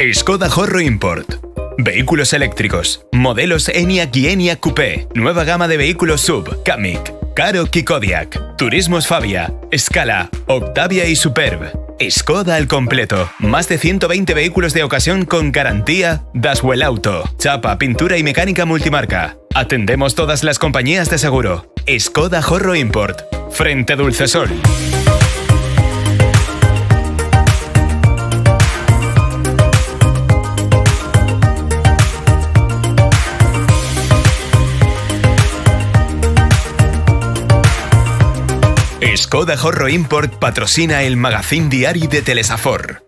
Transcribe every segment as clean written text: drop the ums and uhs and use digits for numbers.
Skoda Horro Import. Vehículos eléctricos. Modelos Enyaq y Enyaq Coupé. Nueva gama de vehículos SUV. Kamiq, Karoq y Kodiaq. Turismos Fabia, Scala, Octavia y Superb. Skoda al completo. Más de 120 vehículos de ocasión con garantía Daswell Auto. Chapa, pintura y mecánica multimarca. Atendemos todas las compañías de seguro. Skoda Horro Import. Frente Dulcesol. Skoda Horro Import patrocina el magazín diari de Telesafor.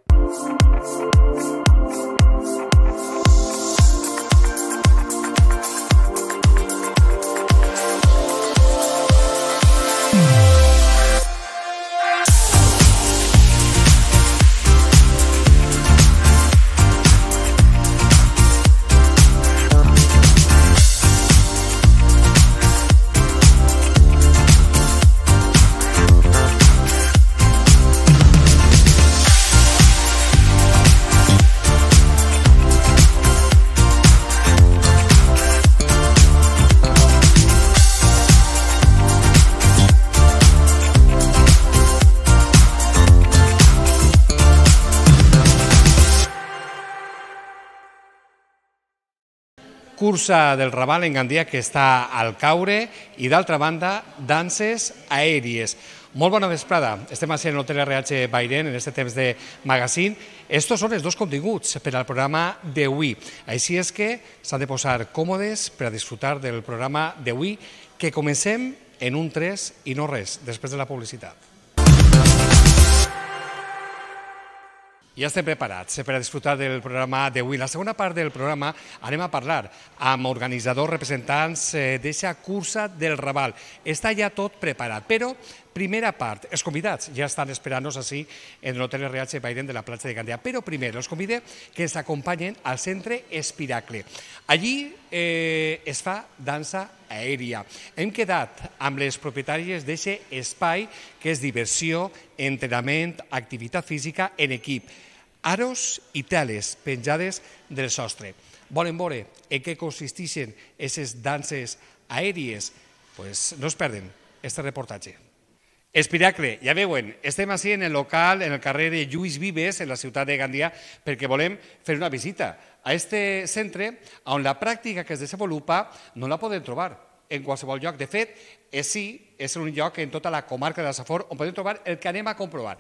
Cursa del Raval en Gandia que està al caure i d'altra banda danses aèries. Molt bona vesprada, estem així en l'Hotel RH Bairen en aquest temps de magazín. Estos són els dos continguts per al programa d'avui. Així és que s'han de posar còmodes per a disfrutar del programa d'avui que comencem en un 3 i no res, després de la publicitat. Ja estem preparats per a disfrutar del programa d'avui. En la segona part del programa anem a parlar amb organitzadors representants d'aquesta cursa del Raval. Està ja tot preparat, però primera part, els convidats ja estan esperant-nos així en l'Hotel RH Bairen de la platja de Gandia. Però primer els convide que ens acompanyen al centre Espiracle. Allí es fa dansa aèria. Hem quedat amb les propietàries d'aquest espai que és diversió, entrenament, activitat física en equip. Aros i teles penjades del sostre. Volen veure en què consisteixen aquestes danses aèries? Doncs no es perden este reportatge. Espiracle, ja veuen, estem així en el local, en el carrer de Lluís Vives, en la ciutat de Gandia, perquè volem fer una visita a este centre on la pràctica que es desenvolupa no la podem trobar en qualsevol lloc. De fet, és un lloc en tota la comarca de la Safor on podem trobar el que anem a comprovar.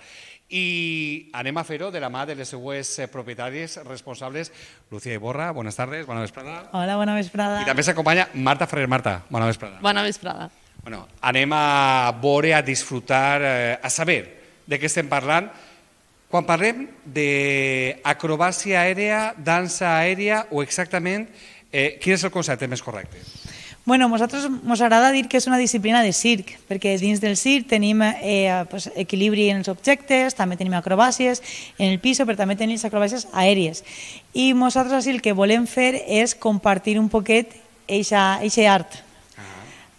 I anem a fer-ho de la mà de les seues propietàries responsables. Lucía Iborra, buenas tardes, bona vesprada. Hola, bona vesprada. I també s'acompanya Marta Ferrer. Marta, bona vesprada. Bona vesprada. Bueno, anem a veure, a disfrutar, a saber de què estem parlant. Quan parlem d'acrobàcia aèria, dansa aèria o exactament, quin és el concepte més correcte? Bueno, a nosaltres ens agrada dir que és una disciplina de circ, perquè dins del circ tenim equilibri en els objectes, també tenim acrobàcies en el pis, però també tenim acrobàcies aèries. I nosaltres el que volem fer és compartir un poquet aquest art.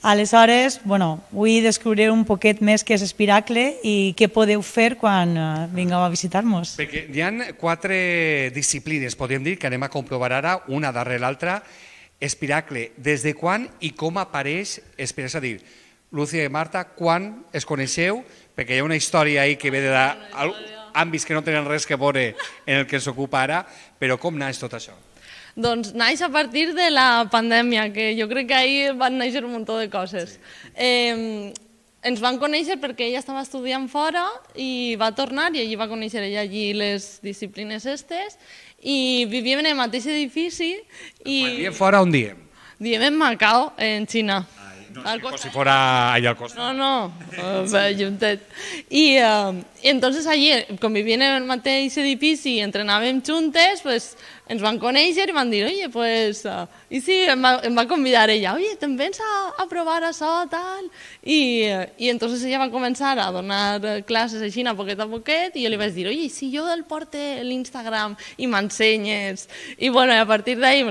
Aleshores, vull descobrir un poquet més què és Espiracle i què podeu fer quan vingueu a visitar-nos. Perquè hi ha 4 disciplines, podríem dir, que anem a comprovar ara, una darrere l'altra. Espiracle, des de quan i com apareix Espiracle? És a dir, Lucía i Marta, quan es coneixeu? Perquè hi ha una història ahí que ve d'àmbits que no tenen res que veure en el que ens ocupa ara, però com naix tot això? Doncs naix a partir de la pandèmia, que jo crec que ahir van néixer un munt de coses. Ens van conèixer perquè ella estava estudiant fora i va tornar i allí va conèixer ella allí les disciplines estes i vivíem en el mateix edifici. Quan diem fora, on diem? Diem en Macao, en Xina. No, com si fora allà al costat. No, juntet. I entonces allí, convivint en el mateix edifici i entrenàvem juntes, ens van conèixer i van dir, oye, pues, i sí, em va convidar ella, oye, te'n vens a provar això, tal? I entonces ella va començar a donar classes així a poquet, i jo li vaig dir, oye, si jo el porte l'Instagram i m'ensenyes? I bueno, a partir d'ahí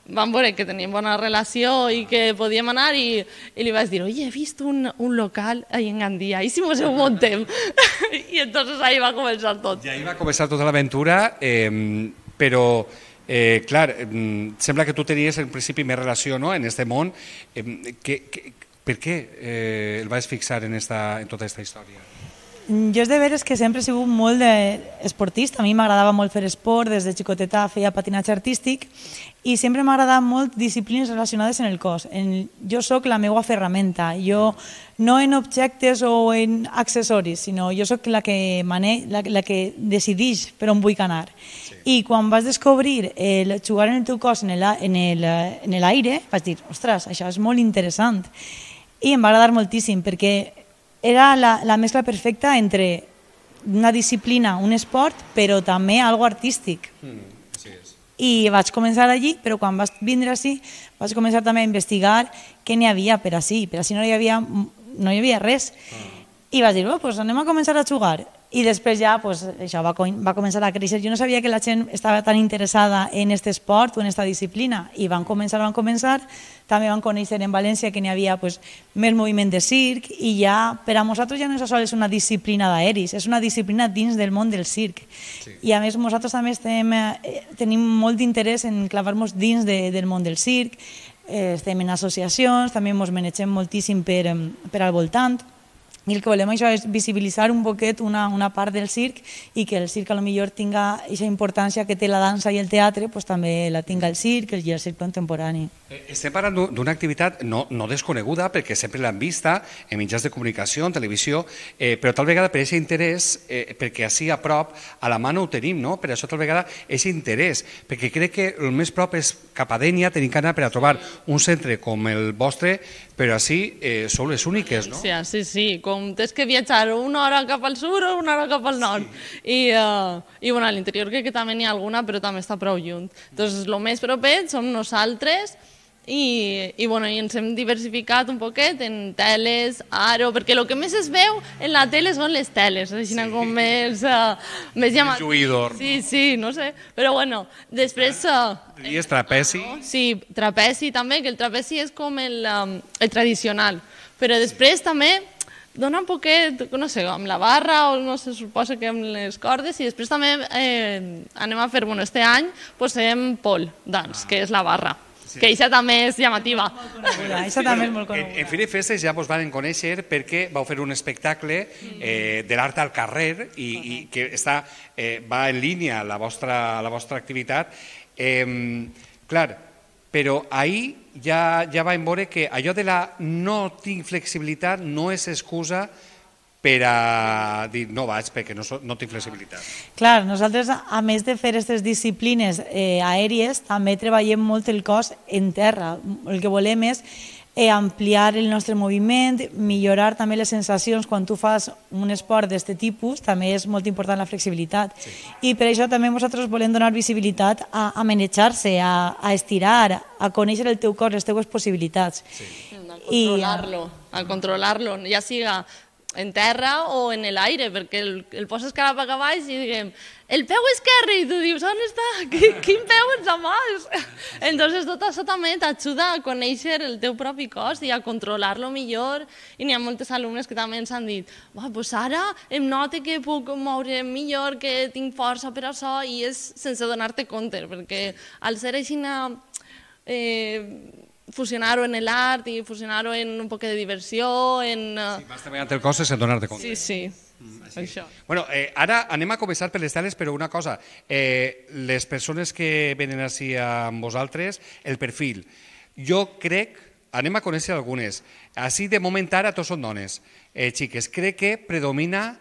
van veure que teníem bona relació i que podíem anar i li vaig dir, oye, he vist un local ahí en Gandia, i si mos ho muntem? I entonces ahí va començar tot. I ahí va començar tota l'aventura. però clar, sembla que tu tenies en principi més relació en aquest món. Per què el vas fixar en tota aquesta història? Jo és de veres que sempre he sigut molt esportista. A mi m'agradava molt fer esport, des de xicoteta feia patinatge artístic i sempre m'ha agradat molt disciplines relacionades en el cos. Jo sóc la meva ferramenta, jo no en objectes o en accessoris, sinó jo sóc la que decideix per on vull anar. I quan vas descobrir jugar en el teu cos en l'aire, vaig dir, ostres, això és molt interessant. I em va agradar moltíssim perquè era la mescla perfecta entre una disciplina, un esport, però també algo artístic. I vaig començar allí, però quan vaig vindre així vaig començar també a investigar què n'hi havia per així. Per així no hi havia res. I vaig dir, doncs anem a començar a jugar. I després ja això va començar a créixer. Jo no sabia que la gent estava tan interessada en aquest esport o en aquesta disciplina. I van començar. També van conèixer en València que n'hi havia més moviment de circ i ja per a nosaltres ja no és sols una disciplina d'aeris, és una disciplina dins del món del circ. I a més nosaltres també tenim molt d'interès en clavar-nos dins del món del circ, estem en associacions, també ens manegem moltíssim per al voltant. I el que volem això és visibilitzar un poquet una part del circ i que el circ potser tinga aquesta importància que té la dansa i el teatre, també la tinga el circ i el circ contemporani. Estem parlant d'una activitat no desconeguda perquè sempre l'hem vista en mitjans de comunicació, en televisió, però tal vegada per aquest interès, perquè així a prop, a la mà no ho tenim, per això tal vegada aquest interès, perquè crec que el més prop és cap a Dénia, tenim que anar per a trobar un centre com el vostre, però així sou les úniques, no? Sí, com tens que viatjar una hora cap al sud o una hora cap al nord. I a l'interior crec que també n'hi ha alguna, però també està prou lluny. Doncs el més proper som nosaltres i ens hem diversificat un poquet en teles, aro, perquè el que més es veu en la tele són les teles, així com més llamatiu. Lluïdor. Sí, no sé, però després... Diries trapezi? Sí, trapezi també, que el trapezi és com el tradicional, però després també dona un poquet, no sé, amb la barra o no se suposa que amb les cordes i després també anem a fer, este any posem pole dance, que és la barra. Que això també és llamativa. Això també és molt coneguda. En Fira i Festes ja vos van conèixer perquè vau fer un espectacle de l'art al carrer i que va en línia a la vostra activitat. Clar, però ahir ja vam veure que allò de la no tinc flexibilitat no és excusa per a dir no vaig perquè no tinc flexibilitat. Clar, nosaltres, a més de fer aquestes disciplines aèries, també treballem molt el cos en terra. El que volem és ampliar el nostre moviment, millorar també les sensacions quan tu fas un esport d'aquest tipus, també és molt important la flexibilitat. I per això també nosaltres volem donar visibilitat a manejar-se, a estirar, a conèixer el teu cos, les teves possibilitats. A controlar-lo, ja siga en terra o en l'aire, perquè el poses cap a baix i diguem, el peu esquerre, i tu dius, on està? Quin peu ens amàs? Entonces tot això també t'ajuda a conèixer el teu propi cos i a controlar-lo millor, i n'hi ha moltes alumnes que també ens han dit, doncs ara em noto que puc moure millor, que tinc força per això, i és sense donar-te compte, perquè al ser així fusionar-ho en l'art i fusionar-ho en un poc de diversió, en... Sí, vas treballant el cos sense donar-te compte. Sí, això. Bueno, ara anem a començar per les teles, però una cosa, les persones que venen així amb vosaltres, el perfil, jo crec, anem a conèixer algunes, així de moment ara tots són dones, xiques, crec que predomina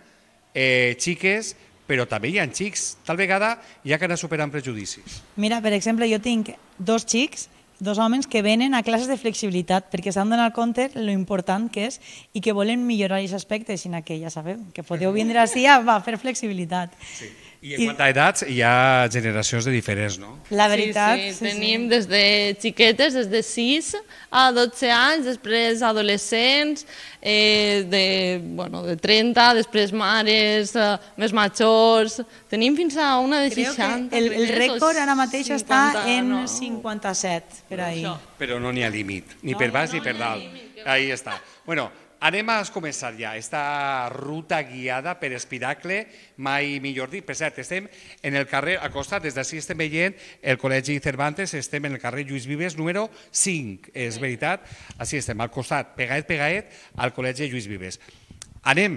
xiques, però també hi ha xics, tal vegada hi ha que anar superant prejudicis. Mira, per exemple, jo tinc dos xics, dos homes que venen a classes de flexibilitat perquè s'han donat compte lo important que és i que volen millorar aquest aspecte, sinó que ja sabeu, que podeu vindre així a fer flexibilitat. Sí. I en quant a edats hi ha generacions de diferents, no? La veritat, sí. Tenim des de xiquetes, des de 6 a 12 anys, després adolescents, de 30, després mares, més majors, tenim fins a una de 60. El rècord ara mateix està en 57, per ahir. Però no n'hi ha límit, ni per baix ni per dalt. Ahí està. Bueno, Anem a començar ja esta ruta guiada per Espiracle, mai millor dit. Per cert, estem en el carrer, al costat, des d'ací estem veient el Col·legi Cervantes, estem en el carrer Lluís Vives, número 5, és veritat. Així estem, al costat, pegaet, al Col·legi Lluís Vives. Anem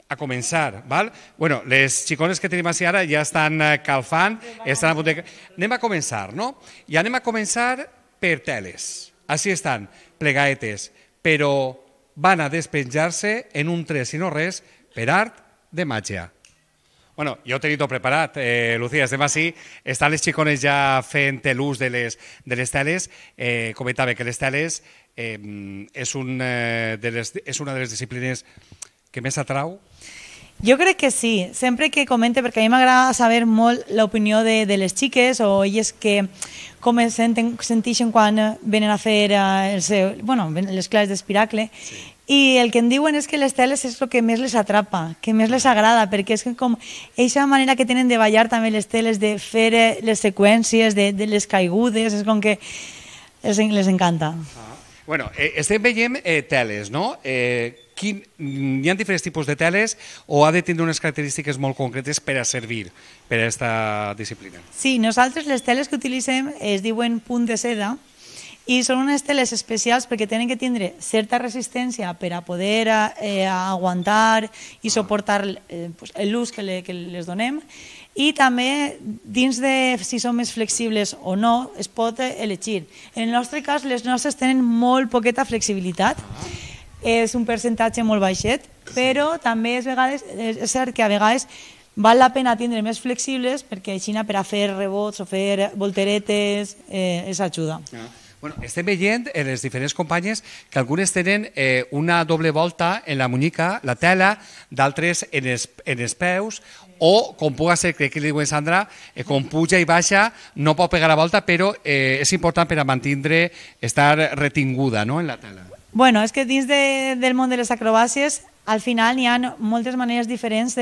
a començar, val? Bueno, les xicones que tenim així ara ja estan calfant, estan a punt de... Anem a començar, no? I anem a començar per teles. Així estan, plegaetes, però van a despenjar-se en un 3 i no res per art de màgia. Bueno, jo ho tenia tot preparat, Lucía, estem així, estan les xicones ja fent l'ús de les teles, comentava que les teles és una de les disciplines que més atrau. Jo crec que sí, sempre que comente, perquè a mi m'agrada saber molt l'opinió de les xiques o elles que com es senteixen quan venen a fer les classes d'Espiracle. I el que em diuen és que les teles és el que més les atrapa, que més les agrada, perquè és com aquesta manera que tenen de ballar també les teles, de fer les seqüències, de les caigudes, és com que les encanta. Bueno, estem veient teles, no? Hi ha diferents tipus de teles o ha de tindre unes característiques molt concretes per a servir per a aquesta disciplina? Sí, nosaltres les teles que utilitzem es diuen punt de seda i són unes teles especials perquè tenen que tindre certa resistència per a poder aguantar i suportar l'ús que les donem, i també dins de si són més flexibles o no es pot elegir. En el nostre cas les nostres tenen molt poqueta flexibilitat, és un percentatge molt baixet, però també és cert que a vegades val la pena tindre més flexibles perquè així per a fer rebots o fer volteretes és ajuda. Bueno, estem veient en les diferents companyes que algunes tenen una doble volta en la muñeca, la tela, d'altres en els peus, o com puga ser, crec que li diuen Sandra, com puja i baixa, no pot pegar la volta, però és important per a mantenir, estar retinguda en la tela. Bueno, és que dins del món de les acrobàcies, al final hi ha moltes maneres diferents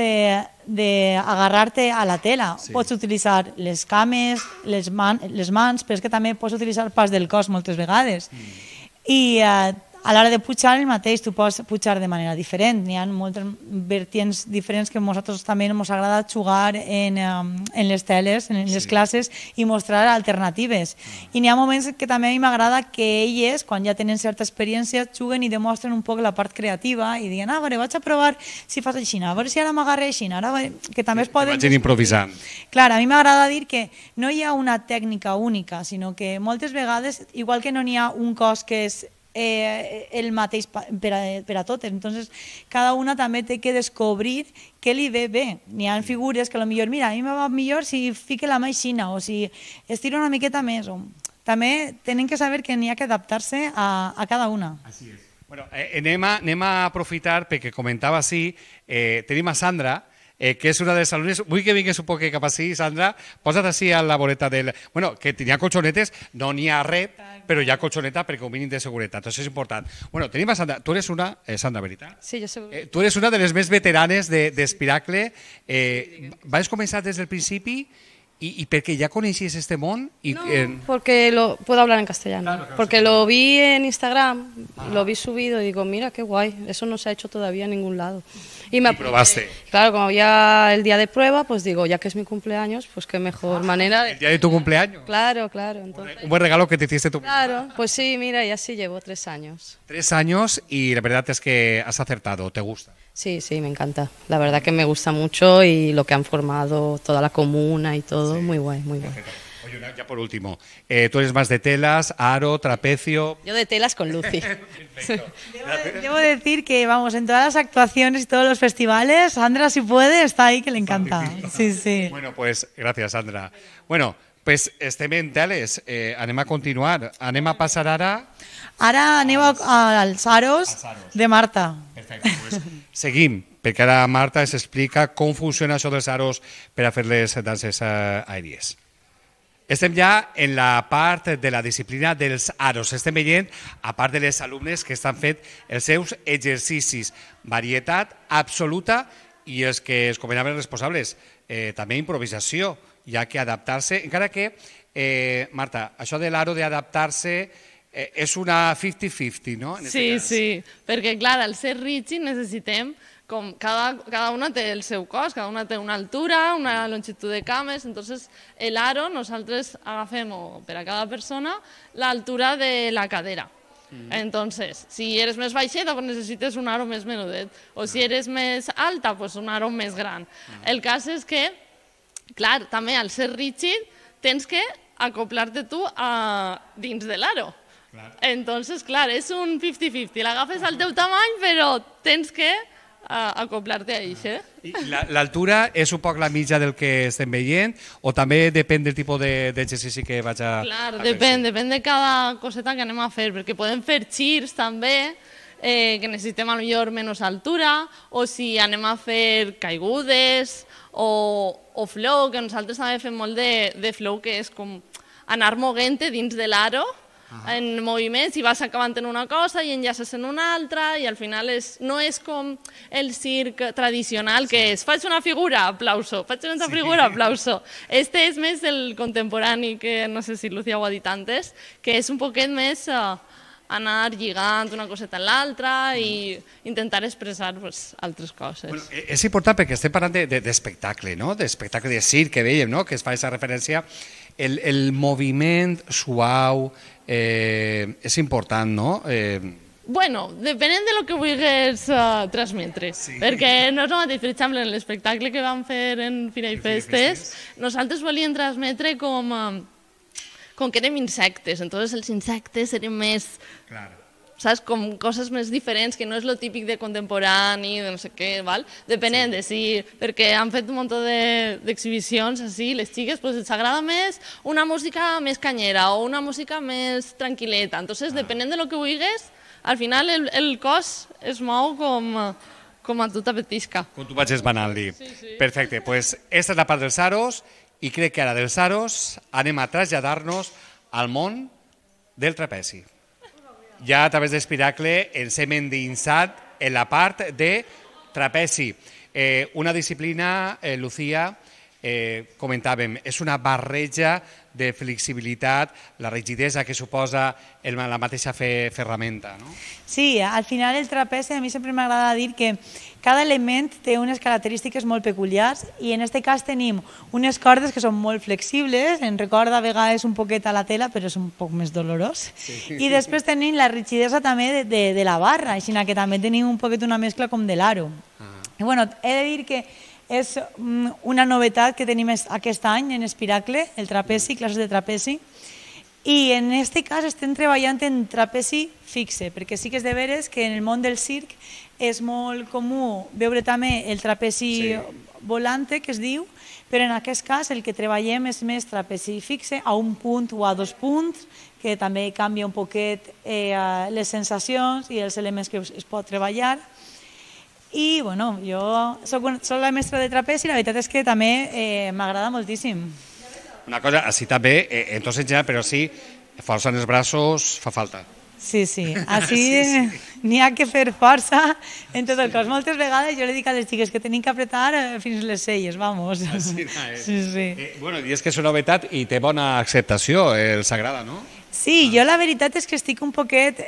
d'agarrar-te a la tela. Sí. Pots utilitzar les cames, les mans, però és que també pots utilitzar parts del cos moltes vegades. I a l'hora de pujar el mateix, tu pots pujar de manera diferent. Hi ha moltes vertients diferents que a nosaltres també ens agrada jugar en les teles, en les classes, i mostrar alternatives. I n'hi ha moments que també a mi m'agrada que elles, quan ja tenen certa experiència, juguen i demostren un poc la part creativa i diuen, a veure, vaig a provar si fas així, a veure si ara m'agarre així, que també es poden... Vagin improvisant. Clar, a mi m'agrada dir que no hi ha una tècnica única, sinó que moltes vegades, igual que no n'hi ha un cos que és el mateix per a totes, entonces cada una també té que descobrir què li ve bé. N'hi ha figures que potser, mira, a mi me va millor si fique la mà aixina o si estiro una miqueta més. També tenen que saber que n'hi ha que adaptar-se a cada una. Així és. Bueno, anem a aprofitar perquè comentava així, tenim a Sandra, que és una de les alumnes. Vull que vingues un poc cap així, Sandra. Posa't així a la voreta del... Bueno, que tenia colxonetes, no n'hi ha res, però hi ha colxoneta perquè un mínim de seguretat. Això és important. Bueno, tenim a Sandra. Tu eres una... Sandra, veritat? Sí, jo soc... Tu eres una de les més veteranes d'Espiracle. Vas començar des del principi y porque ya conocías este mon. No, porque puedo hablar en castellano. Claro, porque lo vi en Instagram, lo vi subido y digo, mira qué guay, eso no se ha hecho todavía en ningún lado. Y probaste. Claro, como había el día de prueba, pues digo, ya que es mi cumpleaños, pues qué mejor manera. ¿El día de tu cumpleaños? Claro, claro. Entonces, un buen regalo que te hiciste tú. Claro, pues sí, mira, y así llevo 3 años. 3 años y la verdad es que has acertado, ¿te gusta? Sí, sí, me encanta. La verdad que me gusta mucho y lo que han formado toda la comuna y todo, sí. Muy guay, muy guay. Oye, ya por último, tú eres más de telas, aro, trapecio... Yo de telas con Lucy. Debo decir que, vamos, en todas las actuaciones y todos los festivales, Sandra, si puede, está ahí, que le encanta. Sí, sí. Bueno, pues, gracias, Sandra. Bueno, pues estem en teles, anem a continuar. Anem a passar ara... Ara anem als aros de Marta. Perfecte, pues seguim, perquè ara Marta ens explica com funciona això dels aros per a fer les danses aèries. Estem ja en la part de la disciplina dels aros. Estem veient, a part de les alumnes que estan fent els seus exercicis. Varietat absoluta i els que es comentaven responsables. També improvisació, hi ha que adaptar-se. Encara que, Marta, això de l'aro d'adaptar-se és una 50-50, no? Sí, perquè clar, al ser rígid necessitem, com cada una té el seu cos, cada una té una altura, una longitud de cames, entonces el aro nosaltres agafem per a cada persona l'altura de la cadera. Entonces, si eres més baixeta, pues necessites un aro més menudet, o si eres més alta, pues un aro més gran. El cas és que, clar, també al ser rígid tens que acoplar-te tu dins de l'aro. Entonces, clar, és un 50-50. L'agafes al teu tamany, però tens que acoplar-te a això. L'altura és un poc la mitja del que estem veient o també depèn del tipus d'exercici que vaig a fer? Clar, depèn de cada coseta que anem a fer, perquè podem fer girs també, que necessitem potser menys altura, o si anem a fer caigudes o flow, que nosaltres també fem molt de flow, que és com anar moguent-te dins de l'aro, en moviments, i vas acabant en una cosa i enllaces en una altra, i al final no és com el circ tradicional, que és faig una figura, aplauso, faig una altra figura, aplauso. Este és més el contemporani, que no sé si Lucía ho ha dit antes, que és un poquet més anar lligant una coseta en l'altra i intentar expressar altres coses. És important perquè estem parlant d'espectacle, d'espectacle de circ que dèiem, que es fa aquesta referència. El moviment suau és important, no? Bueno, depenent de lo que vulguis transmetre, perquè no és el mateix, per exemple, en l'espectacle que vam fer en Fira i Festes, nosaltres volíem transmetre com que érem insectes, entonces els insectes eren més, saps, com coses més diferents, que no és lo típic de contemporani, de no sé què, val? Depenent de si, perquè han fet un munt d'exhibicions així, les xiques, doncs els agrada més una música més canyera o una música més tranquil·leta, entonces depenent de lo que vulguis, al final el cos es mou com a tu t'apetisca. Com tu vagis manant-li. Perfecte, doncs aquesta és la part dels aros, i crec que ara dels aros anem a traslladar-nos al món del trapezi. Ja a través d'Espiracle ens hem endinsat en la part de trapezi. Una disciplina, Lucía, comentàvem, és una barreja de flexibilitat, la rigidesa que suposa la mateixa ferramenta, no? Sí, al final el trapezi a mi sempre m'agrada dir que cada element té unes característiques molt peculiars i en aquest cas tenim unes cordes que són molt flexibles, en recorda a vegades un poquet a la tela, però és un poc més dolorós. I després tenim la rigidesa també de la barra, així que també tenim un poquet una mescla com de l'aro. I bueno, he de dir que és una novetat que tenim aquest any en Espiracle, el trapezi, classes de trapezi, i en aquest cas estem treballant en trapezi fixe, perquè sí que és de veres que en el món del circ és molt comú veure també el trapezi volante, que es diu, però en aquest cas el que treballem és més trapezi fixe, a un punt o a 2 punts, que també canvia un poquet les sensacions i els elements que es pot treballar. I, bueno, jo soc la mestra de trapezi i la veritat és que també m'agrada moltíssim. Una cosa, així també, en tot general, però sí, força en els braços fa falta. Sí, així n'hi ha que fer força en tot el cos. Moltes vegades jo li dic a les xiques que tenim que apretar fins les celles, vamos. Sí. Bueno, i és que és una novetat i té bona acceptació, els agrada, no? Sí, jo la veritat és que estic un poquet...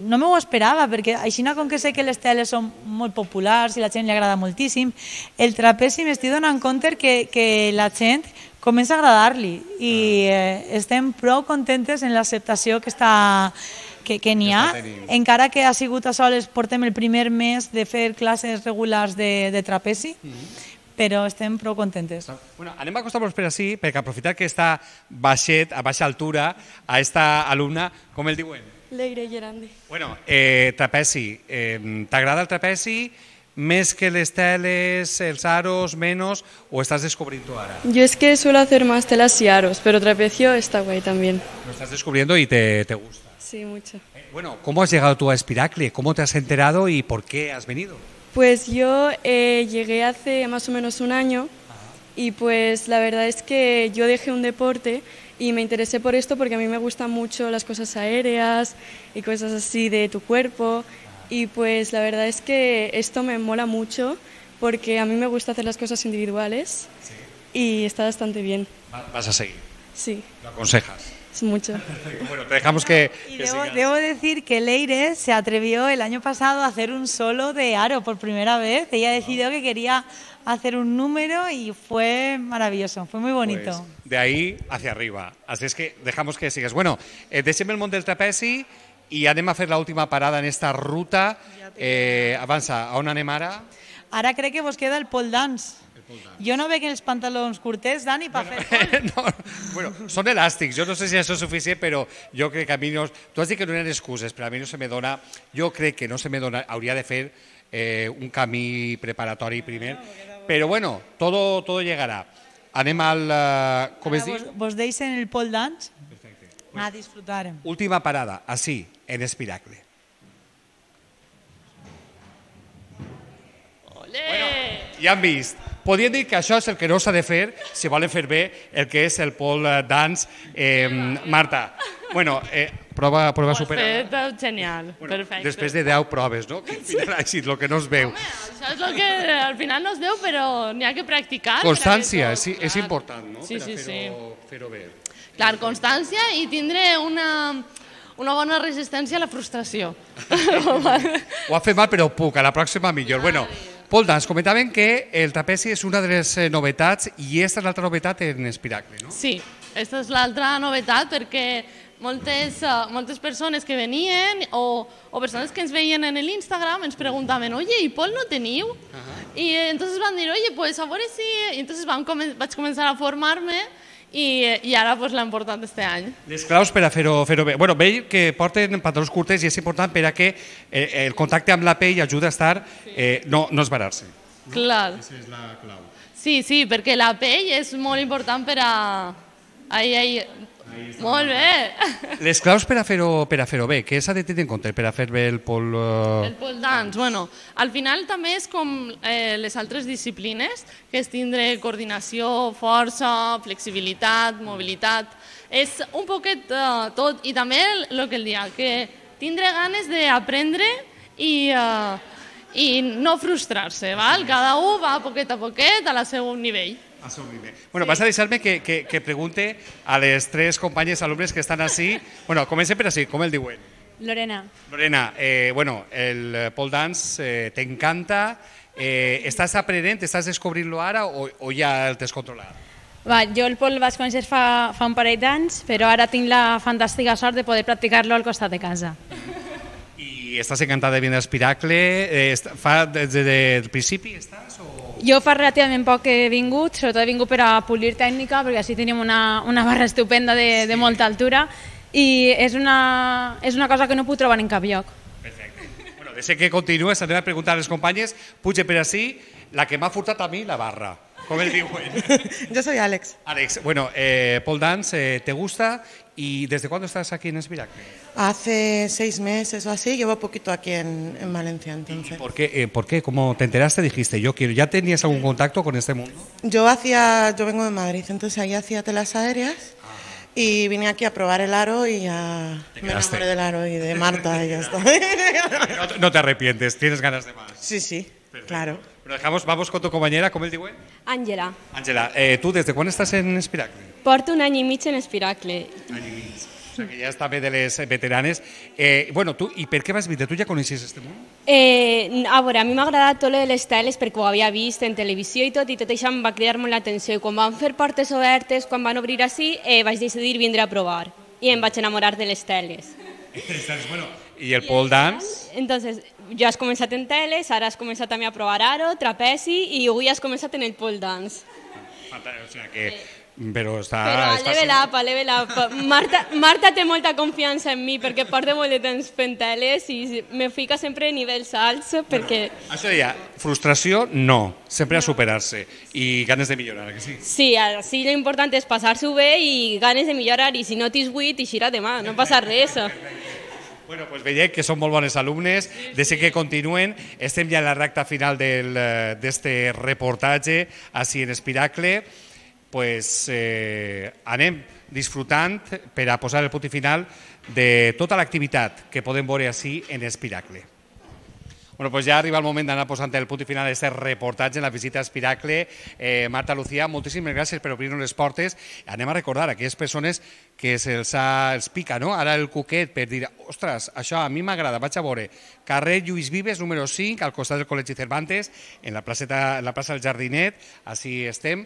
No m'ho esperava, perquè així com que sé que les teles són molt populars i la gent li agrada moltíssim, el trapezi m'estic donant compte que la gent comença a agradar-li i estem prou contentes en l'acceptació que n'hi ha, encara que ha sigut a soles, portem el primer mes de fer classes regulars de trapezi, però estem prou contentes. Bueno, anem a acostar-nos per així, perquè aprofitar que està baixet, a baixa altura, a esta alumna, com el diuen? Leire Gerandi. Bueno, trapezi, t'agrada el trapezi més que les teles, els aros, menos, o estás descubriendo ahora? Yo es que suelo hacer más telas y aros, pero trapecio está guay también. Lo estás descubriendo y te gusta. Sí, mucho. Bueno, ¿cómo has llegado tú a Espiracle? ¿Cómo te has enterado y por qué has venido? Pues yo llegué hace más o menos un año y pues la verdad es que yo dejé un deporte y me interesé por esto porque a mí me gustan mucho las cosas aéreas y cosas así de tu cuerpo y pues la verdad es que esto me mola mucho porque a mí me gusta hacer las cosas individuales y está bastante bien. ¿Vas a seguir? Sí. ¿Lo aconsejas? es mucho. Bueno, te dejamos que Y sigas. debo decir que Leire se atrevió el año pasado a hacer un solo de aro por primera vez. Ella decidió que quería hacer un número y fue maravilloso, fue muy bonito. Pues, de ahí hacia arriba. Así es que dejamos que sigas. Bueno, deixem el món del trapezi i anem a fer l'última parada en esta ruta. Avança, a on anem ara? Ara crec que vos queda el pole dance. Jo no veig els pantalons curtets, Dani, per fer pole. No, bueno, són elàstics. Jo no sé si això és suficient, però jo crec que a mi no... Tu has dit que no eren excuses, però a mi no se me dona... Jo crec que no se me dona... Hauria de fer un camí preparatori primer. Però bueno, todo llegarà. Anem al... Com es diu? Vos deixen el pole dance? Perfecte. A disfrutar. Última parada, així, en Espiracle. Bueno, ja han vist. Podríem dir que això és el que no s'ha de fer si volen fer bé el que és el pole dance. Marta, bueno, prova superada. Ho has fet genial, perfecte. Després de 10 proves, no? Que al final ha sigut el que no es veu. Això és el que al final no es veu, però n'hi ha que practicar. Constància, és important, no? Sí, sí, sí. Per fer-ho bé. Clar, constància i tindre una bona resistència a la frustració. Ho ha fet mal, però puc, a la pròxima millor. Bueno, Pole dance, comentaven que el trapezi és una de les novetats i aquesta és l'altra novetat en Espiracle, no? Sí, aquesta és l'altra novetat perquè moltes persones que venien o persones que ens veien en l'Instagram ens preguntaven, oye, ¿y pol no teniu? Y entonces van dir, oye, pues a veure si... I entonces vaig començar a formar-me i ara pues, l'ha important este any. Les claus per a fer-ho bé. Bueno, veig que porten pantalons curtes i és important per a que el contacte amb la pell ajuda a estar, no esbarar-se. Clar. Aquesta és la clau. Sí, perquè la pell és molt important per a... Molt bé. Les claus per a fer-ho bé, què s'ha de tenir en compte per a fer bé el pole... El pole dance, bueno, al final també és com les altres disciplines, que és tindre coordinació, força, flexibilitat, mobilitat, és un poquet tot, i també el que el dia, que tindre ganes d'aprendre i no frustrar-se, val? Cada un va poquet a poquet a la seu nivell. Bueno, vas a deixar-me que pregunte a les tres companyes alumnes que estan així. Bueno, comencem per així, com el diuen? Lorena. Lorena, bueno, el pole dance t'encanta. Estàs aprenent, estàs descobrint-lo ara o ja el tens controlat? Jo el pole vaig conèixer fa un parell d'anys, però ara tinc la fantàstica sort de poder practicar-lo al costat de casa. I estàs encantada de venir a Espiracle? Des del principi estàs? Jo fa relativament poc que he vingut, sobretot he vingut per a polir tècnica, perquè així tenim una barra estupenda de molta altura i és una cosa que no puc trobar en cap lloc. Perfecte. Bueno, deixa que continues, anem a preguntar a les companyes, puja per així, la que m'ha furtat a mi, la barra. ¿Cómo el diuen? Yo soy Alex. Alex, bueno, pole dance, ¿te gusta? ¿Y desde cuándo estás aquí en Espiracle? Hace 6 meses o así, llevo poquito aquí en Valencia, entonces. ¿Por qué? ¿Cómo te enteraste? Dijiste, yo quiero. ¿Ya tenías algún contacto con este mundo? Yo vengo de Madrid, entonces ahí hacía telas aéreas y vine aquí a probar el aro y ya me enamoré del aro y de Marta y ya está. No te arrepientes, tienes ganas de más. Sí, Perfecto. claro. Bueno, vamos con tu compañera, ¿cómo el diuen? Àngela. Àngela, ¿tú desde cuándo estás en Espiracle? Porto un any i mig en Espiracle. Any i mig. O sea, que ya está bé de les veteranes. Bueno, tu, i per què vas vindre? Tu ja coneixies este món? A veure, a mi m'ha agradat tot de les teles perquè ho havia vist en televisió i tot això em va cridar molt l'atenció. I quan van fer portes obertes, quan van obrir així, vaig decidir vindre a provar. I em vaig enamorar de les teles. Bueno, i el pole dance? Entonces, jo has començat en teles, ara has començat també a provar aro, trapezi i avui has començat en el pole dance. O sea que... Però està... a level up. Marta té molta confiança en mi perquè porta molt de temps fent teles i me fica sempre a nivells alts perquè... Això deia, frustració no, sempre a superar-se i ganes de millorar, que sí? Sí, així l'important és passar-s'ho bé i ganes de millorar i si no t'has buit, eixirà demà, no passa res. Bueno, pues veiem que són molt bones alumnes, deixem que continuen. Estem ja a la recta final d'este reportatge així en Espiracle. Pues anem disfrutant per a posar el punt final de tota l'activitat que podem veure així en Espiracle. Bueno, pues ja arriba el moment d'anar posant el punt i final d'aquest reportatge en la visita a Espiracle. Marta, Lucía, moltíssimes gràcies per obrir-nos les portes. Anem a recordar a aquelles persones que els pica, no? Ara el cuquet per dir, ostres, això a mi m'agrada, vaig a veure. Carrer Lluís Vives, número 5, al costat del Col·legi Cervantes, en la plaça del Jardinet, així estem.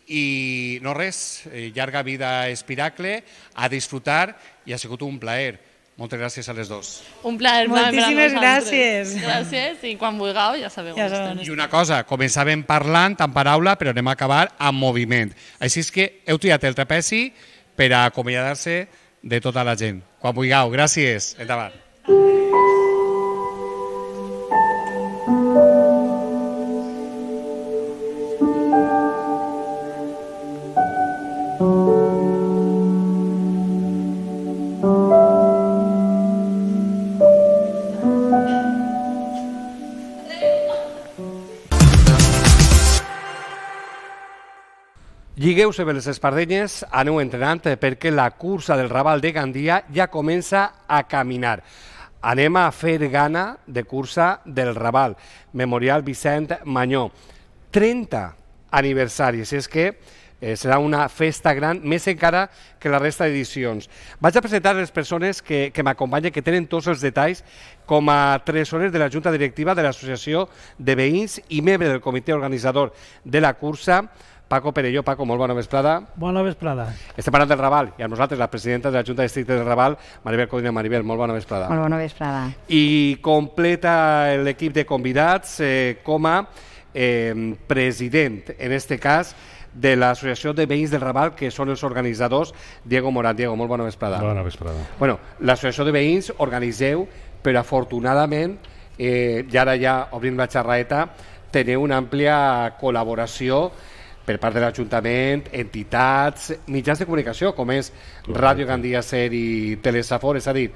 I no res, llarga vida a Espiracle, a disfrutar, i ha sigut un plaer. Moltes gràcies a les dos. Un plaer. Moltíssimes gràcies. Gràcies, i quan vulgueu ja sabeu on estem. I una cosa, començàvem parlant en paraula, però anem a acabar amb moviment. Així és que heu triat el trapezi per a acomiadar-se de tota la gent. Quan vulgueu. Gràcies. Endavant. Lligueu-se bé les espardenyes, aneu entrenant perquè la cursa del Raval de Gandia ja comença a caminar. Anem a fer gana de cursa del Raval, Memorial Vicent Mañó. 30 aniversaris, és que serà una festa gran, més encara que la resta d'edicions. Vaig a presentar les persones que m'acompanyen, que tenen tots els detalls, com a tresorers de la Junta Directiva de l'Associació de Veïns i membre del comitè organitzador de la cursa, Paco Perelló. Paco, molt bona vesprada. Bona vesprada. Estem parlant del Raval i amb nosaltres la presidenta de la Junta de Districte del Raval, Maribel Codina. Maribel, molt bona vesprada. Molt bona vesprada. I completa l'equip de convidats com a president, en este cas, de l'Associació de Veïns del Raval, que són els organitzadors, Diego Morán. Diego, molt bona vesprada. Bona vesprada. Bueno, l'Associació de Veïns organitzeu, però afortunadament, i ara ja obrint la xerraeta, teniu una àmplia col·laboració per part de l'Ajuntament, entitats, mitjans de comunicació, com és Ràdio Gandia Ser i Telesafor. És a dir,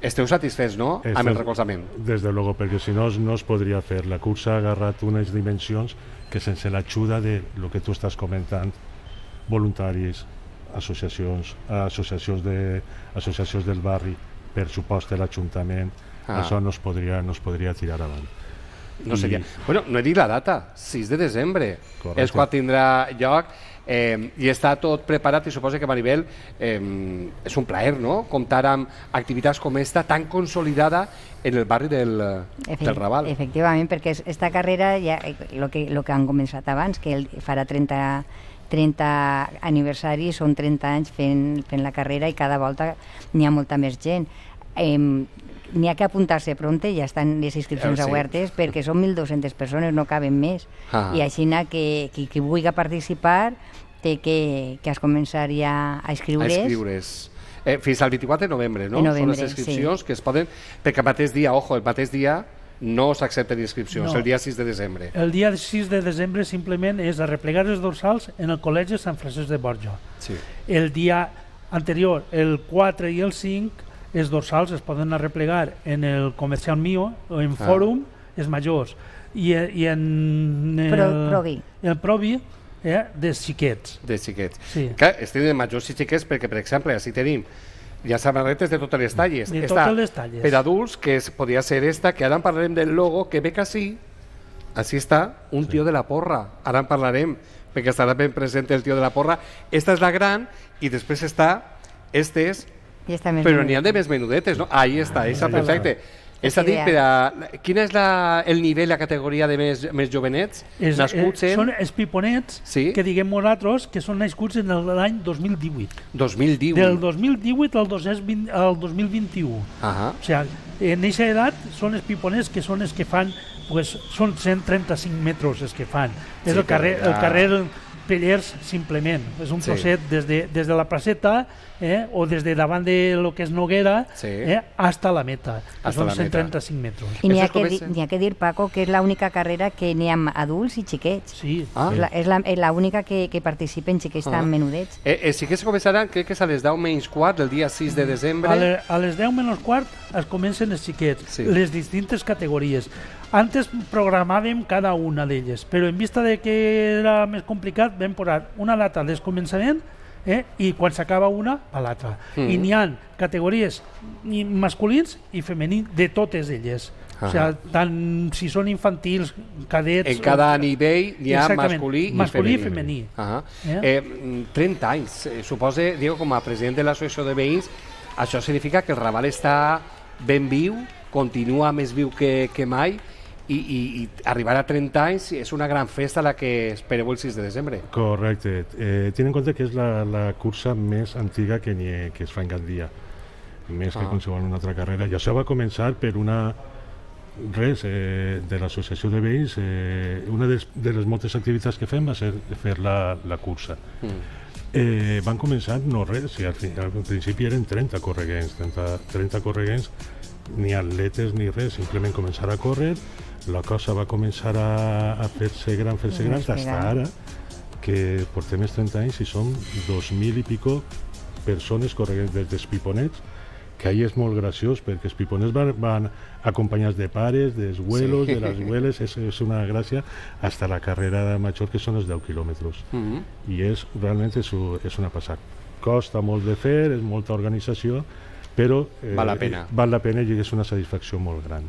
esteu satisfets, no?, amb el recolzament. Des de luego, perquè si no, no es podria fer. La cursa ha agarrat unes dimensions que sense l'ajuda de lo que tu estàs comentant, voluntaris, associacions del barri, per supost l'Ajuntament, això no es podria tirar avant. No seria. Bueno, no he dit la data, 6 de desembre és quan tindrà lloc, i està tot preparat, i suposo que, Maribel, és un plaer, no?, comptar amb activitats com esta tan consolidada en el barri del Raval. Efectivament, perquè esta carrera, el que han començat abans, que farà 30 aniversaris, són 30 anys fent la carrera, i cada volta n'hi ha molta més gent. N'hi ha que apuntar-se pronte, ja estan les inscripcions obertes, perquè són 1.200 persones, no caben més. I així qui vulgui participar té que es començar ja a inscriure's. Fins al 24 de novembre, no? Són les inscripcions que es poden, perquè el mateix dia no s'accepten inscripcions, el dia 6 de desembre. El dia 6 de desembre simplement és arreplegar els dorsals en el Col·legi Sant Francesc de Borja. El dia anterior, el 4 i el 5, els dorsals es poden arreplegar en el Comercial Mío o en Fòrum, els majors, i en el Provi dels xiquets. Dels xiquets. Estem de majors i xiquets perquè, per exemple, així tenim ja samarretes de totes les talles. De totes les talles. Per adults, que podria ser esta, que ara en parlarem del logo, que ve que així està un tio de la porra. Ara en parlarem, perquè estarà ben present el tio de la porra. Esta és la gran, i després està estes, però n'hi ha de més menudetes, no? Ahí està, perfecte. És a dir, quin és el nivell, la categoria de més jovenets? Són els piponets que diguem nosaltres que són nascuts en l'any 2018. 2018. Del 2018 al 2021. O sigui, en aquesta edat són els piponets que són els que fan, són 135 metres els que fan. És el carrer Pellers, simplement. És un trosset des de la placeta o des de davant de lo que és Noguera hasta la meta, que són 135 metres. I n'hi ha que dir, Paco, que és l'única carrera que n'hi ha adults i xiquets. Sí. És l'única que participen xiquets tan menudets. Sí que es començaran, crec que és a les 10 menys quart del dia 6 de desembre. A les 10 menys quart es comencen els xiquets, les distintes categories. Antes programàvem cada una d'elles, però en vista de que era més complicat vam posar una data de començament i quan s'acaba una a l'altra. I n'hi ha categories masculins i femenins de totes elles. O sigui, tant si són infantils, cadets... En cada nivell hi ha masculí i femení. 30 anys. Suposa, Diego, com a president de l'associació de veïns, això significa que el Raval està ben viu, continua més viu que mai, i arribar a 30 anys és una gran festa la que espereu el 6 de desembre. Correcte. Ten en compte que és la cursa més antiga que es fa en Gandia, més que qualsevol una altra carrera. I això va començar per de l'associació de veïns. Una de les moltes activitats que fem va ser fer la cursa. Van començar no res, al principi eren 30 correguents, ni atletes ni res, simplement començar a córrer. La cosa va començar a fer-se gran, fins ara, que portem els 30 anys i som 2.000 i pico persones correguents des dels piponets, que ahí és molt graciós perquè els piponets van acompanyats de pares, dels abuelos, de les abueles, és una gràcia, hasta la carrera major, que són els 10 quilòmetres. I realment és una passada. Costa molt de fer, és molta organització, però val la pena i és una satisfacció molt gran.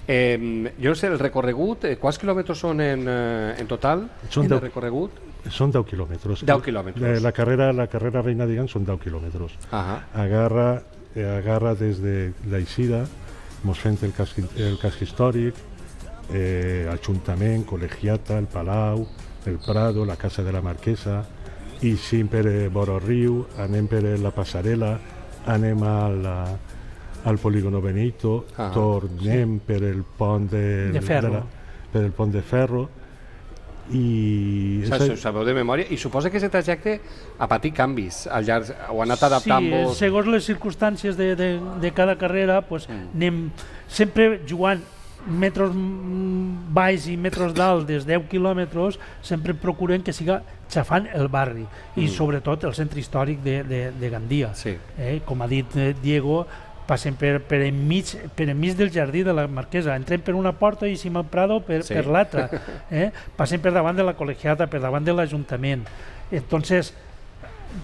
Jo no sé, el recorregut, quants quilòmetres són en total de recorregut? Són 10 quilòmetres. 10 quilòmetres. La carrera reina, diguem, són 10 quilòmetres. Agarra des de l'Eixida, mos fent el casc històric, Ajuntament, Col·legiata, el Palau, el Prado, la Casa de la Marquesa, i sim per vora riu, anem per la passarel·la, anem al polígono Benito, tornem per el pont de Ferro, i ho sabeu de memòria, i suposa que aquest trajecte ha patit canvis al llarg, ho ha anat adaptant-vos. Sí, segons les circumstàncies de cada carrera, anem sempre jugant metros baix i metros dalt des 10 quilòmetres, sempre procurem que siga xafant el barri i sobretot el centre històric de Gandia. Com ha dit Diego, passem per enmig del jardí de la Marquesa, entrem per una porta i sim al Prado per l'altra, passem per davant de la Col·legiata, per davant de l'Ajuntament. Entonces,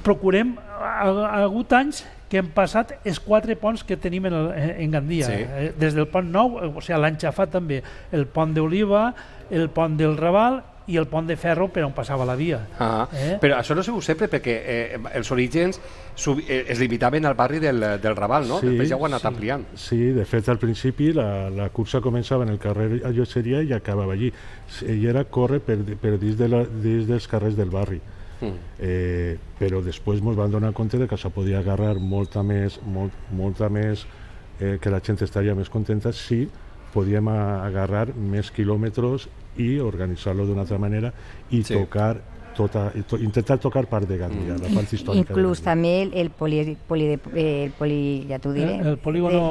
procurem, ha hagut anys que hem passat els 4 ponts que tenim en Gandia, des del pont nou, o sigui, l'han xafat també el pont d'Oliva, el pont del Raval i el pont de ferro per on passava la via. Però això no sé sempre, perquè els orígens es limitaven al barri del Raval, no? Després ja ho han anat ampliant. Sí, de fet, al principi la cursa començava en el carrer Llotgeria i acabava allí. I era córrer per dins dels carrers del barri. Però després ens vam donar compte que això podia agarrar molta més, que la gent estaria més contenta si podíem agarrar més quilòmetres i organitzar-lo d'una altra manera i intentar tocar part de Gandia, la part històrica. Inclús també el polígono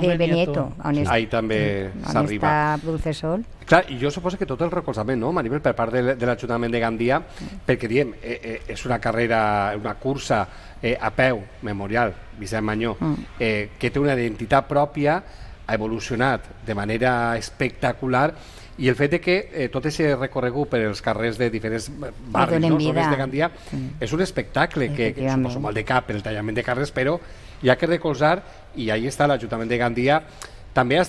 de Benito, on està Dulcesol. Clar, i jo suposo que tot el recolzament, no, Maribel, per part de l'Ajuntament de Gandia, perquè diem, és una carrera, una cursa a peu, memorial, Vicent Mañó, que té una identitat pròpia, ha evolucionat de manera espectacular, i el fet que tot aquest recorregut per els carrers de diferents barris, zones de Gandia, és un espectacle que suposo molt de cap per el tallament de carrers, però hi ha que recolzar, i ahí està l'Ajuntament de Gandia. També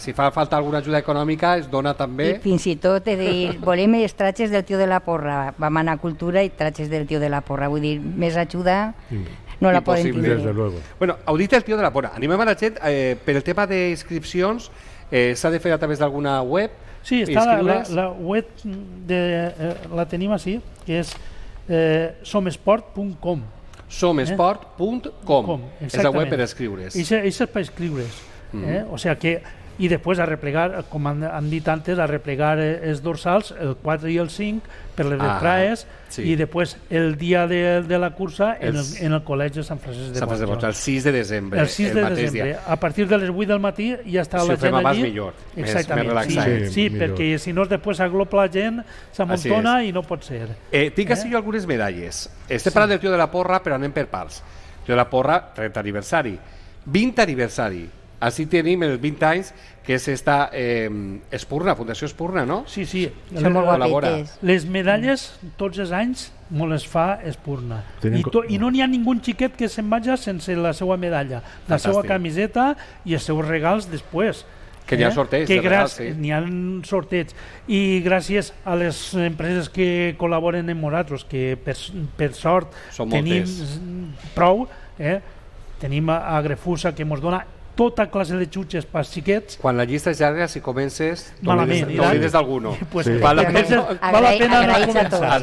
si fa falta alguna ajuda econòmica es dona també... I fins i tot volem els tratges del tio de la Porra, vam anar a Cultura i tratges del tio de la Porra, vull dir, més ajuda no la poden tindre. Bueno, heu dit el tio de la Porra, animem a la gent per el tema d'inscripcions, s'ha de fer a través d'alguna web? Sí, està la web, la tenim així, que és somesport.com. Somesport.com és la web per escriure's. És per escriure's. O sigui que, i després a replegar, com han dit antes, a replegar els dorsals, el 4 i el 5, per les entrades, i després el dia de la cursa en el Col·legi de Sant Francesc de Borja. El 6 de desembre. El 6 de desembre. A partir de les 8 del matí ja està la gent allí. Millor, exactament, més relaxat. Sí, perquè si no després aglopa la gent, s'amontona i no pot ser. Tinc així algunes medalles. Estem parlant del tio de la Porra, però anem per parts. Tio de la Porra, 30 aniversari. 20 aniversari. Així tenim els 20 anys que és esta Espurna, Fundació Espurna, no? Sí, sí. Les medalles tots els anys me les fa Espurna. I no n'hi ha ningú xiquet que se'n vagi sense la seva medalla, la seva camiseta i els seus regals després. Que n'hi ha sorteig, de regal, sí. N'hi ha sorteig. I gràcies a les empreses que col·laboren amb nosaltres, que per sort tenim prou, tenim a Grefusa, que ens dona tota classe de xutxes pels xiquets. Quan la llista és llarga, si comences, t'oblides d'alguno. Val la pena començar.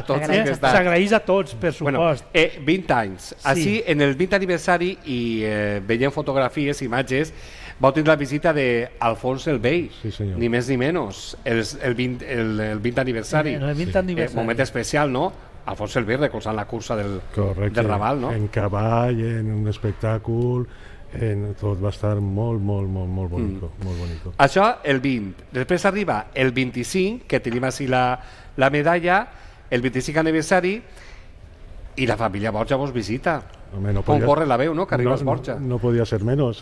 S'agraeix a tots, per supost. 20 anys. Així, en el 20 aniversari, i veiem fotografies, imatges, vau tenir la visita d'Alfons el Vell, ni més ni menys, el 20 aniversari. Moment especial, no? Alfons el Vell recolzant la cursa del Raval, no? En cavall, en un espectacle... tot va estar molt bonico. Això el 20. Després arriba el 25, que tenim així la medalla, el 25 aniversari, i la família Borja vos visita. Com corre la veu, no? Que arribes Borja. No podia ser menys.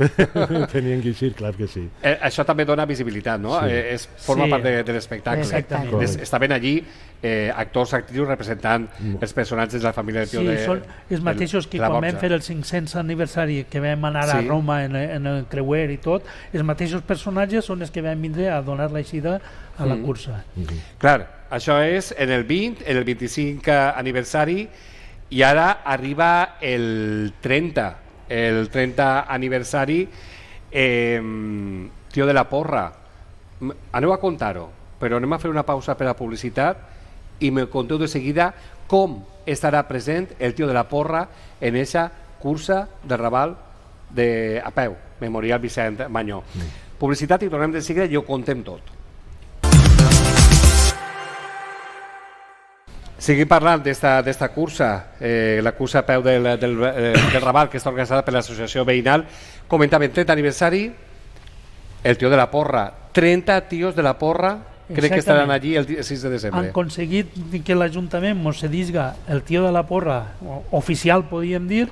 Tenien que eixir, clar que sí. Això també dona visibilitat, no? Forma part de l'espectacle. Estaven allí actors, actrius representant els personatges de la família del tio de... Sí, són els mateixos que quan vam fer el 500 aniversari, que vam anar a Roma en el creuer i tot, els mateixos personatges són els que vam vindre a donar l'eixida a la cursa. Clar, això és en el 20, en el 25 aniversari, i ara arriba el 30 aniversari, Tio de la Porra. Aneu a contar-ho, però anem a fer una pausa per a publicitat i me conteu de seguida com estarà present el Tio de la Porra en aquesta cursa de Raval a peu, Memorial Vicent Mañó. Publicitat i tornem de seguida i ho contem tot. Seguim parlant d'esta cursa, la cursa a peu del Raval, que està organitzada per l'associació veïnal. Comentàvem 30 aniversari, el Tio de la Porra, 30 tios de la Porra, crec que estaran allí el 6 de desembre. Han aconseguit que l'Ajuntament ens cedisca el Tio de la Porra oficial, podríem dir,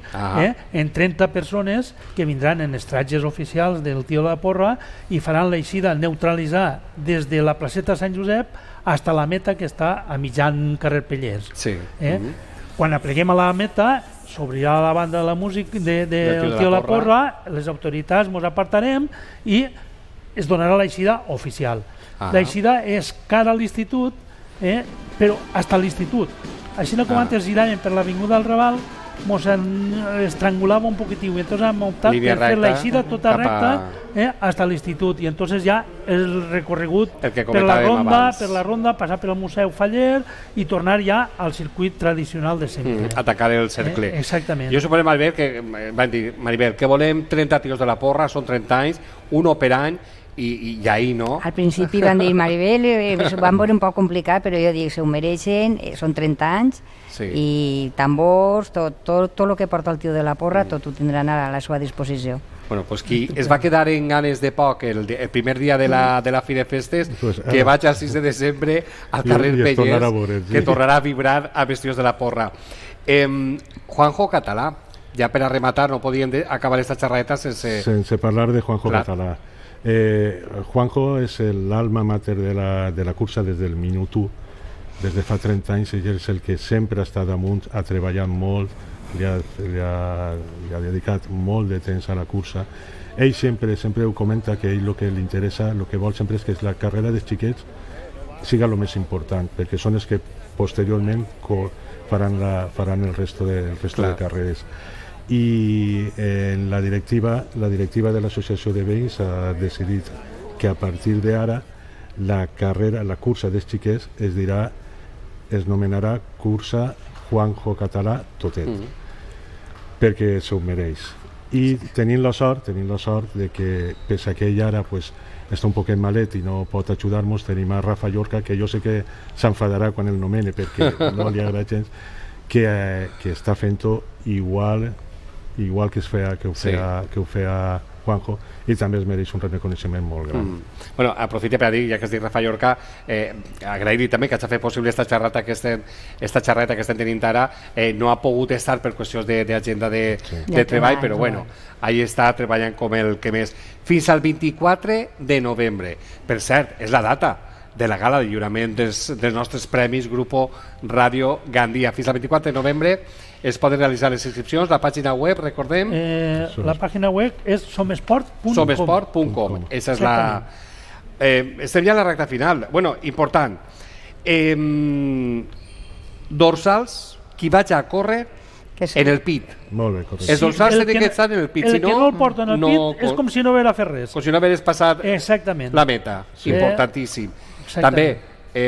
en 30 persones que vindran en els tratges oficials del Tio de la Porra i faran l'eixida neutralitzar des de la placeta Sant Josep fins a la meta, que està a mitjan carrer Pellers. Quan apleguem a la meta, s'obrirà la banda de la música del Tio de la Porra, les autoritats ens apartarem i es donarà l'eixida oficial. L'eixida és cara a l'institut, però fins a l'institut. Així com antes giràvem per l'avinguda del Raval, ens estrangulava un poquitiu, i entonces hem optat per fer l'eixida tota recta fins a l'institut, i entonces ja el recorregut per la ronda, passar per al Museu Faller i tornar ja al circuit tradicional de sempre. Atacar el cercle. Exactament. Jo suposo, Maribel, que van dir, Maribel, que volem 30 tios de la Porra, són 30 anys, un per any, i ahí, no? Al principi van dir, Maribel, van veure un poc complicat, però jo dic, se ho mereixen, són 30 anys, i tambors, tot el que porta el Tio de la Porra, tot ho tindran a la seva disposició. Bueno, pues qui es va quedar en ganes de poc el primer dia de la Fi de Festes, que vaig al 6 de desembre al carrer Pellers, que tornarà a vibrar a Vestidos de la Porra. Juanjo Català, ja per a rematar, no podíem acabar esta xerradeta sense parlar de Juanjo Català. Juanjo és l'alma mater de la cursa des del minut 1, des de fa 30 anys. Ell és el que sempre ha estat damunt, ha treballat molt, li ha dedicat molt de temps a la cursa. Ell sempre ho comenta, que ell el que li interessa, el que vol sempre és que la carrera dels xiquets siga el més important, perquè són els que posteriorment faran el resto de carreres. I la directiva de l'associació de veïns ha decidit que a partir d'ara la cursa dels xiquets es nomenarà cursa Juanjo Català Totet, perquè s'ho mereix. I tenim la sort de que, pese a que ell ara està un poquet malet i no pot ajudar-nos, tenim a Rafa Llorca, que jo sé que s'enfadarà quan el nomene perquè no li agrada gens, que està fent-ho igual que ho feia Juanjo, i també es mereix un reconeixement molt gran. Bueno, aprofite per a dir, ja que has dit Rafa Llorca, agrair-li també que hagi fet possible esta xerrata que estem tenint ara. No ha pogut estar per qüestions d'agenda de treball, però bueno, ahí està treballant com el que més. Fins al 24 de novembre. Per cert, és la data de la gala de lliurament dels nostres premis Grupo Ràdio Gandia. Fins al 24 de novembre es poden realitzar les inscripcions. La pàgina web, recordem? La pàgina web és somesport.com. Somesport.com. Esa és estem ja a la recta final. Bueno, important. Dorsals, qui vaig a córrer en el pit. Molt bé, correcte. Els dorsals tenen que estar en el pit. El que no el porta en el pit és com si no haguera fet res. Com si no hagués passat la meta. Importantíssim. També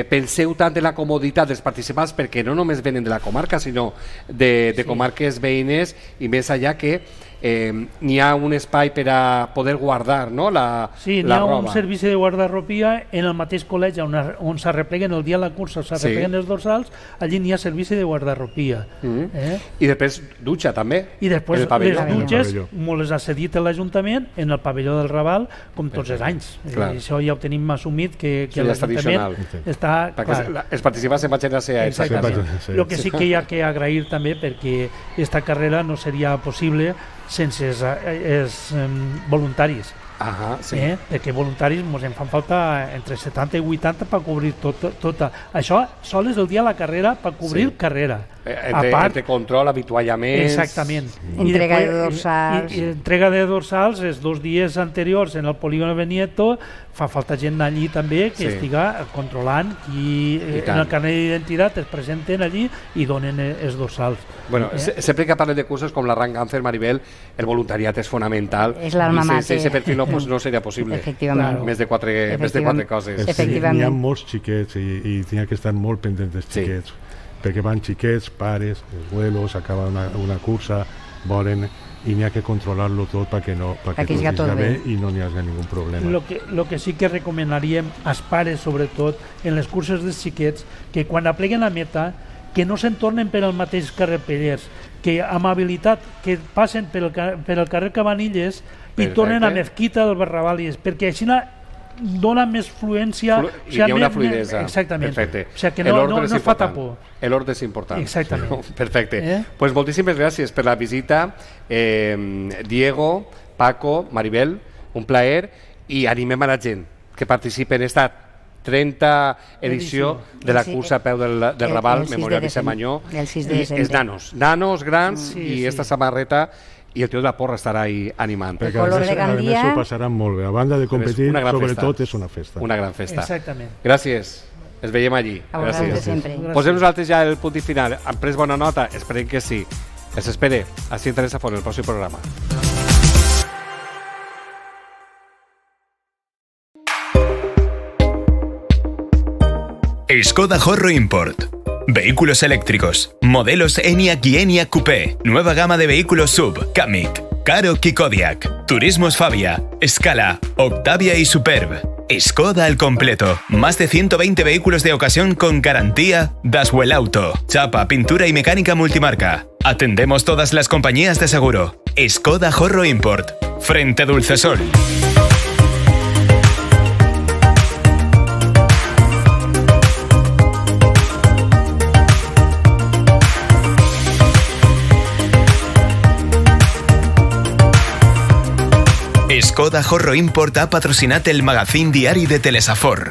penseu tant en la comoditat dels participants, perquè no només venen de la comarca, sinó de comarques veïnes, i més allà que n'hi ha un espai per a poder guardar la roba. Sí, n'hi ha un servici de guardarropia en el mateix col·legi on s'arrepleguen el dia de la cursa, s'arrepleguen els dorsals, allí n'hi ha servici de guardarropia. I després dutxa també. I després les dutxes me les ha cedit l'Ajuntament en el pavelló del Raval, com tots els anys. Això ja ho tenim assumit, que l'Ajuntament està... Els participants se'n vagin a ser exactament. El que sí que hi ha que agrair també, perquè aquesta carrera no seria possible sense els voluntaris. Perquè voluntaris ens en fan falta entre 70 i 80 per cobrir tota. Això sol és el dia de la carrera per cobrir carrera. Entre control, avituallaments... Exactament. Entrega de dorsals. Entrega de dorsals, els 2 dies anteriors en el polígono Benieto, fa falta gent allí també que estiga controlant i en el carnet d'identitat es presenten allí i donen els dorsals. Bueno, sempre que parlem de curses com la Run Càncer, Maribel, el voluntariat és fonamental. És l'alma mater. Sense ese perfil no seria possible. Efectivament. Més de 4 coses. N'hi ha molts xiquets i n'hi ha que estar molt pendents dels xiquets, perquè van xiquets, pares, els abuelos, acaba una cursa, volen, i n'hi ha que controlar-lo tot perquè tot estigui bé i no n'hi hagi ningú problema. Lo que sí que recomanaríem als pares, sobretot, en les curses dels xiquets, que quan apleguen la meta, que no se'n tornen per al mateix carrer Pellers, que amb habilitat que passen per el carrer Cabanilles i tornen a Mezquita del Barrabalies, perquè així dona més fluència. I hi ha una fluidesa. Exactament. Perfecte. O sigui que no es fa tapó. L'ordre és important. Exactament. Perfecte. Pues moltíssimes gràcies per la visita. Diego, Paco, Maribel, un plaer, i animem a la gent que participi en esta 30 edició de la cursa a peu del Raval, Memorial de Semanyó. Els nanos grans i esta samarreta, i el tio de la porra estarà ahí animant. Perquè a més ho passaran molt bé. A banda de competir, sobretot és una festa. Una gran festa. Exactament. Gràcies. Es veiem allí. Gràcies. Posem nosaltres ja el punt i final. Han pres bona nota? Esperem que sí. Els espere a Interessa Font, el pròxim programa. Skoda Horro Import. Vehículos eléctricos, modelos Enyaq y Enyaq Coupé, nueva gama de vehículos SUV, Kamiq, Karoq y Kodiaq, Turismos Fabia, Scala, Octavia y Superb. Skoda al completo, más de 120 vehículos de ocasión con garantía Daswell Auto, chapa, pintura y mecánica multimarca. Atendemos todas las compañías de seguro. Skoda Horro Import, frente Dulcesol. Skoda Horro Import ha patrocinat el magazín diari de Telesafor.